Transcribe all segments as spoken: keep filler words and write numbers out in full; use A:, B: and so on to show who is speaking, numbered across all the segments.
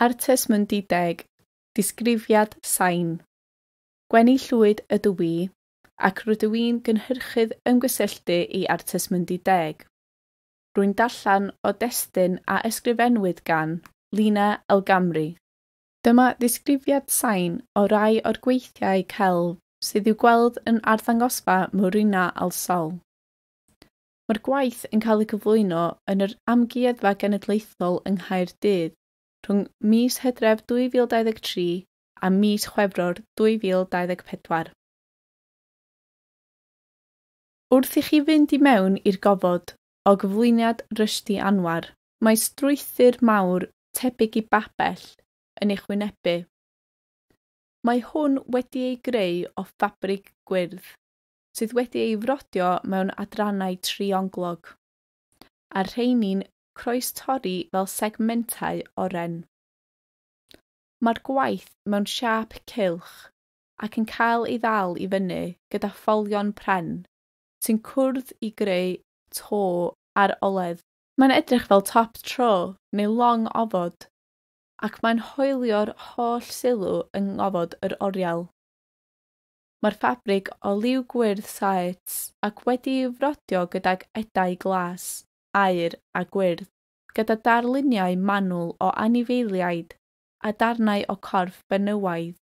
A: Artes Mundi Deg, Disgrifiad Sain. Gweni Llwyd ydw i, ac rydw i'n gynhyrchydd ymgysylltu i Artes Mundi Deg. Rwy'n darllen o destun a ysgrifennwyd gan Lina Elgamri. Dyma ddisgrifiad sain o rai o'r gweithiau celf sydd i'w gweld yn arddangosfa Murina al Sol. Mae'r gwaith yn cael ei gyflwyno yn yr Amgueddfa Genedlaethol yng Nghaerdydd rhwng mis Hydref dwy fil dau ddeg tri a mis Chwefror dwy fil dau ddeg pedwar. Wrth i chi fynd i mewn i'r gofod o gyflwyniad Rushdie Anwar, mae strwythur mawr tebyg i babell yn eich wynebu. Mae hwn wedi ei greu o ffabrig gwyrdd, sydd wedi ei frodio mewn adrannau trionglog, a'r rheini'n croestorri fel segmentau oren. Mae'r gwaith mewn siâp cylch ac yn cael ei ddal i fyny gyda ffolion pren sy'n cwrdd i greu to ar oledd. Mae'n edrych fel top tro neu long ofod, ac mae'n hoelio'r holl sylw yng ngofod yr oriel. Mae'r ffabrig o liw gwyrdd saets ac wedi'i frodio gydag edau glas, aur a gwyrdd, gyda darluniau manwl o anifeiliaid a darnau o corff benywaidd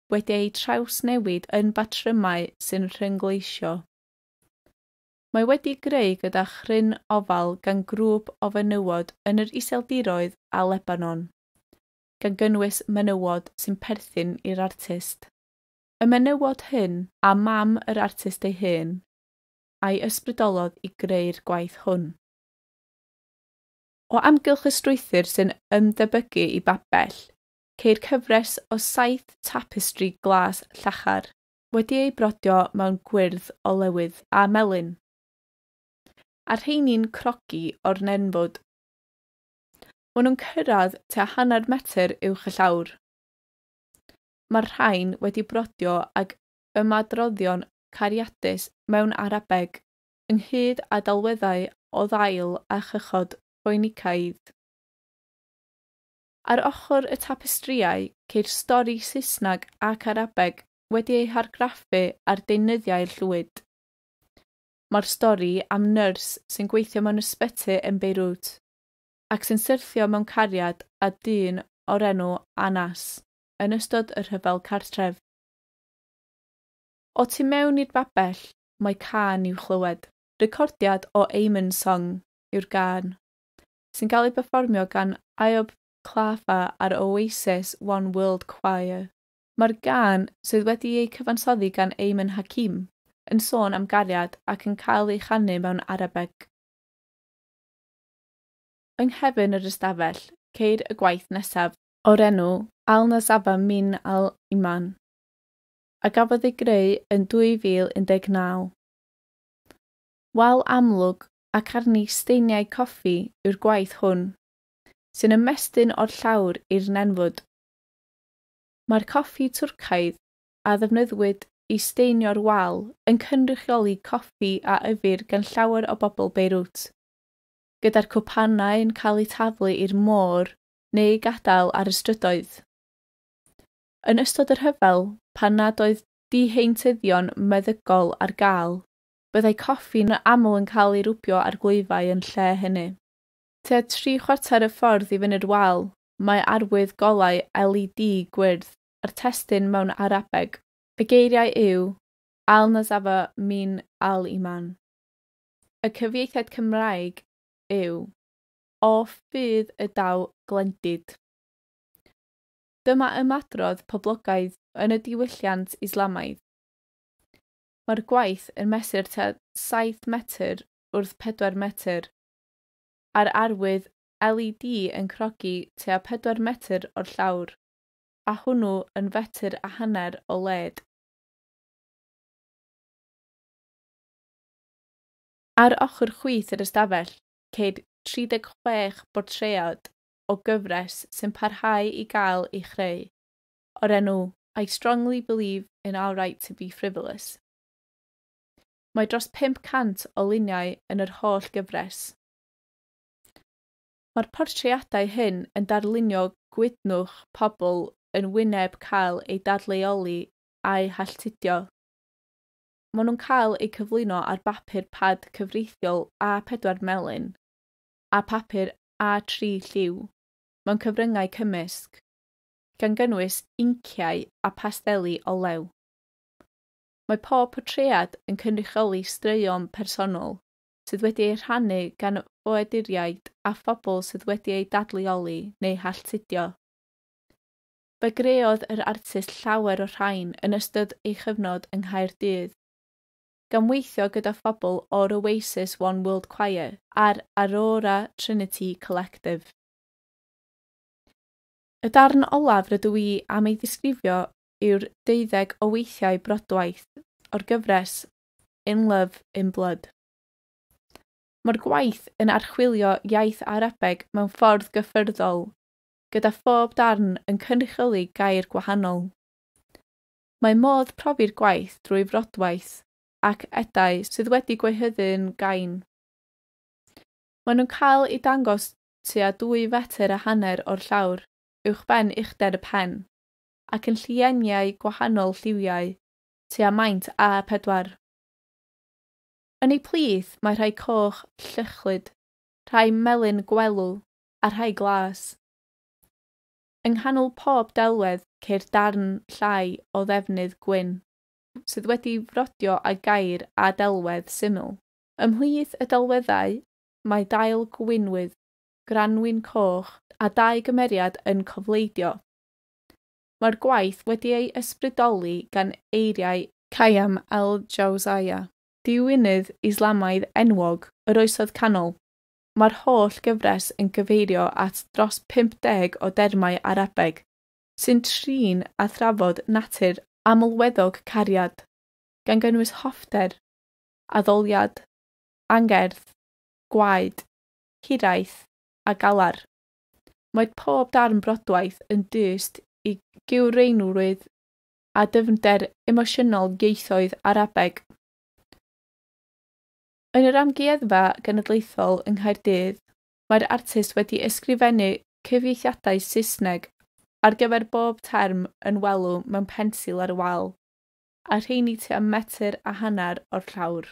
A: wedi eu trawsnewid yn batrymau sy'n rhyngleisio. Mae wedi greu gyda chryn ofal gan grŵp o fenywod yn yr Iseldiroedd a Lebanon, gan gynnwys menywod sy'n perthyn i'r artist. Y menywod hyn a mam yr artist ei hun, a'i ysbrydolodd i greu'r gwaith hwn. O amgylch y strwythur sy'n ymdebygu i babell, ceir cyfres o saith tapestri glas llachar, wedi eu brodio mewn gwyrdd olewydd a melyn, a'r rheini'n crogi o'r nenfwd. Maen nhw'n cyrraedd tua hanner metr uwch y llawr. Mae'r rhain wedi brodio ag ymadroddion cariadus mewn Arabeg, ynghyd â delweddau o ddail a chychod Phoenicaidd. Ar ochr y tapestrïau ceir stori Saesneg ac Arabeg wedi ei hargraffu ar deunyddiau llwyd. Mae'r stori am nyrs sy'n gweithio mewn ysbyty yn Beirut ac sy'n syrthio mewn cariad â dyn o'r enw Anas yn ystod y rhyfel cartref. O tu mewn i'r babell mae cân i'w chlywed. Recordiad o Ayman Song yw'r gân, sy'n cael ei berfformio gan Ayoub Khalfa a'r Oasis One World Choir. Mae'r gân, sydd wedi ei cyfansoddi gan Ayman Hakim, yn sôn am gariad ac yn cael ei chanu mewn Arabeg. Yng nghefn yr ystafell, ceir y gwaith nesaf o'r enw Al-Nazafa Min Al-Iman, a gafodd ei greu yn dwy fil un deg naw. Wal amlwg ac arni steiniau coffi yw'r gwaith hwn, sy'n ymestyn o'r llawr i'r nenfwd. Mae'r coffi Twrcaidd a ddefnyddiwyd i steinio'r wal yn cynrychioli coffi a yfir gan llawer o bobl Beirut, gyda'r cwpanau yn cael eu taflu i'r môr neu gadael ar y strydoedd. Yn ystod yr rhyfel, pan nad oedd diheintyddion meddygol ar gael, byddai coffi'n aml yn cael ei rwbio ar glwyfau yn lle hynny. Tua tri chwarter y ffordd i fyny'r wal, mae arwydd golau L E D gwyrdd a'r testun mewn Arabeg. Y geiriau yw Al-Nazafa Min Al-Iman. Y cyfieithiad Cymraeg yw O ffydd y daw glendid. Dyma ymadrodd poblogaidd yn y diwylliant Islamaidd. Mae'r gwaith yn mesur tua saith metr wrth pedwar metr, a'r arwydd L E D yn crogi tua pedwar metr o'r llawr, a hwnnw yn fetr a hanner o led. Ar ochr chwith yr ystafell, ceir tri deg chwech bortread o gyfres sy'n parhau i gael ei chreu, o'r enw I strongly believe in our right to be frivolous. Mae dros pump cant o luniau yn yr holl gyfres. Mae'r portreadau hyn yn darlunio gwydnwch pobl yn wyneb cael eu dadleoli a'u halltudio. Maen nhw'n cael eu cyflwyno ar bapur pad cyfreithiol A pedwar melyn a papur A tri lliw mewn cyfryngau cymysg, gan gynnwys inciau a pasteli olew. Mae pob portread yn cynrychioli straeon personol sydd wedi eu rhannu gan ffoaduriaid a phobl sydd wedi eu dadleoli neu halltudio. Fe greodd yr artist llawer o'r rhain yn ystod ei chyfnod yng Nghaerdydd, gan weithio gyda phobl o'r Oasis One World Choir a'r Aurora Trinity Collective. Y darn olaf rydw i am ei ddisgrifio yw'r deuddeg o weithiau brodwaith o'r gyfres In Love in Blood. Mae'r gwaith yn archwilio iaith Arabeg mewn ffordd gyffyrddol, gyda phob darn yn cynrychioli gair gwahanol. Mae modd profi'r gwaith drwy frodwaith ac edau sydd wedi gwehyddu'n gain. Maen nhw'n cael eu dangos tua dwy fetr a hanner o'r llawr, uwchben uchder y pen, ac yn llieniau gwahanol lliwiau, tua maint A pedwar. Yn eu plith mae rhai coch llychlyd, rhai melyn gwelw a rhai glas. Yng nghanol pob delwedd ceir darn llai o ddefnydd gwyn, sydd wedi frodio â gair a delwedd syml. Ymhlith y delweddau mae dail gwinwydd, granwyn coch a dau gymeriad yn cofleidio. Mae'r gwaith wedi ei ysbrydoli gan eiriau Khayyam al-Jawzayya, diwinydd Islamaidd enwog yr Oesoedd Canol. Mae'r holl gyfres yn gyfeirio at dros pump deg o dermau Arabeg sy'n trin a thrafod natur amlweddog cariad, gan gynnwys hoffter, addoliad, angerdd, gwaed, hiraeth a galar. Mae pob darn brodwaith yn dyst i gywreinrwydd a dyfnder emosiynol ieithoedd Arabeg. Yn yr Amgueddfa Genedlaethol yng Nghaerdydd, mae'r artist wedi ysgrifennu cyfieithiadau Saesneg ar gyfer bob term yn welw mewn pensil ar y wal, a rheini tua metr a hanner o'r llawr.